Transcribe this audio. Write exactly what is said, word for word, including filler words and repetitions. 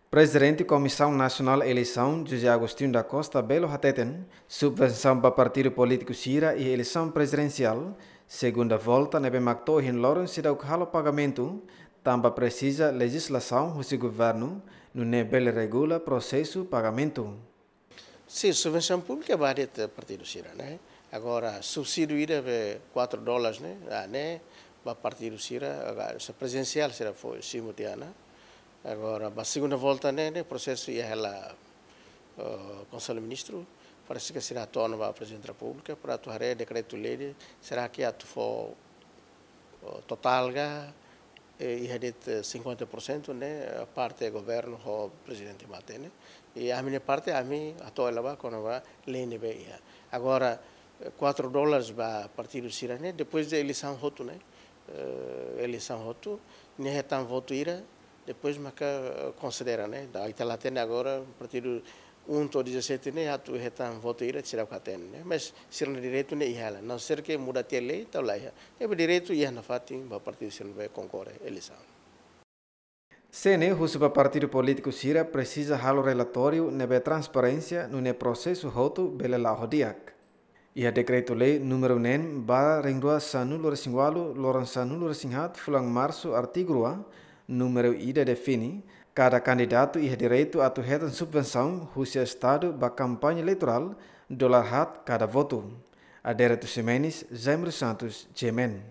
Prezidente Komisaun Nasionál Eleisaun, José Agostinho da Costa Belo hateten, subvensaun ba partidu polítiku sira iha eleisaun prezidensiál segunda volta ne'ebé mak to'o ohin loron seidauk halo pagamentu, tanba presiza lejizlasaun husi governu, nune'e bele regula prosesu pagamentu. Sin, subvensaun públika ba de'it partidu sira, ne'e. Agora, subsídiu ida be quatro dólares, ne'e, ah, ne'e, ba partidu sira, agora, se prezidensiál sira fó simu tiha ona. Agora, ba segunda volta, ne'e, ne'e, prosesu iha hela, eh, Konsellu Ministru, parese ke sira hato'o ona ba Prezidente Repúblika, para atu haree dekretu-lei, será ke atu fó, eh, totál ka, eh, iha de'it, eh, cinquenta por cento ne'e, eh, parte governu ho prezidente mate ne'e. I ami-nia parte, ami hato'o hela ba kona-ba lei ne'ebé iha. Agora, eh, quatro dólares ba partidu sira ne'e, depois de eleisaun hotu ne'e, eh, eleisaun hotu, nia hetan votu ida, depois maka, eh, konsidera, ne'e. Ita la hatene agora, partidu um to'o dezassete ne'e, atu hetan votu ida, sira ka hatene, ne'e. Mas sira-nia direitu ne'e iha hela. Não ser que muda tiha lei, entaun la iha. Ne'ebé direitu iha nafatin ba partidu sira ne'ebé konkorre eleisaun. C N E husu ba partidu polítiku sira presiza halo relatóriu ne'ebé transparénsia nune'e prosesu hotu bele la'o di'ak. Iha dekretu-lei númeru neen barra rihun rua sanulu resin walu, loron sanulu resin haat, fulan Marsu, artigu rua, númeru ida define, kada kandidatu iha direitu atu hetan subvensaun husi Estadu ba kampaña eleitorál, dolar haat kada votu. Adérito Ximenes, Jaime dos Santos, G M N.